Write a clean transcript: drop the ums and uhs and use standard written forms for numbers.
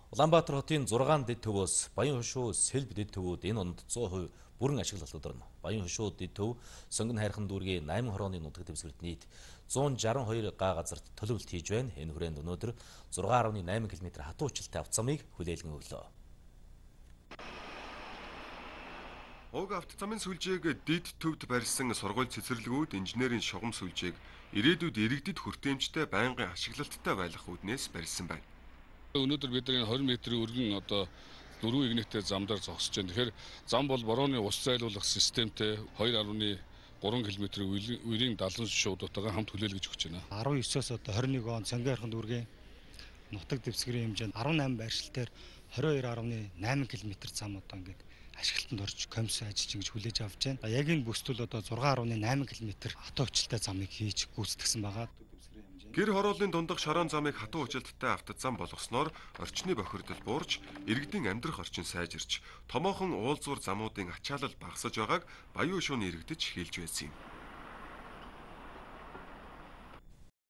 Улаанбаатар хотын 6 дэд төвөөс Баян хошуу Сэлб дэд төвүүд энэ онд 100% бүрэн ашиглалт орно. Баян хошуу дэд төв Сонгон хайрхан дүүргийн 8 хорооны нутаг дэвсгэрт нийт 162 га газарт төлөвлөлт хийж байна. Энэ хүрээнд өнөөдөр 6.8 км хатуу хүчилтэй автозамыг хүлээлгэн өглөө. Уг автозамын сүлжээг дэд төвд барьсан сургууль цэцэрлэгүүд инженерийн шугам сүлжээг ирээдүйд иргэдэд хүртээмжтэй байнгын ашиглалттай байх үүднээс барьсан байна. Өнөөдөр бидний 20 м-ийн өргөн дөрвөн игнэтэй замдаар зогсож байна. Тэгэхээр зам бол борооны ус зайлуулах системтэй 2.3 км үерийн 70 шуудуудтайгаа хамт хүлээлгэж өгч байна. 19-оос 21 он Сонгон хайрхан дүүргийн нутаг дэвсгэрийн хэмжээнд 18 байршилтаар 22.8 км зам ингээд ашиглалтанд орж комисс ажиллаж ингэж хүлээж авч байна. Яг энэ бүсдэл 6.8 км хатуу хүчилтэй замыг хийж гүйцэтгсэн байгаа. Гэр хорооллын дундах шорон замыг хатуу хүчилттэй автозам болгосноор орчны бохирдол буурч, иргэдийн амьдрах орчин сайжирч, томоохон уулзвар замуудын ачаалал багасж байгааг Баян хошууны иргэдэж хэлж байсан юм.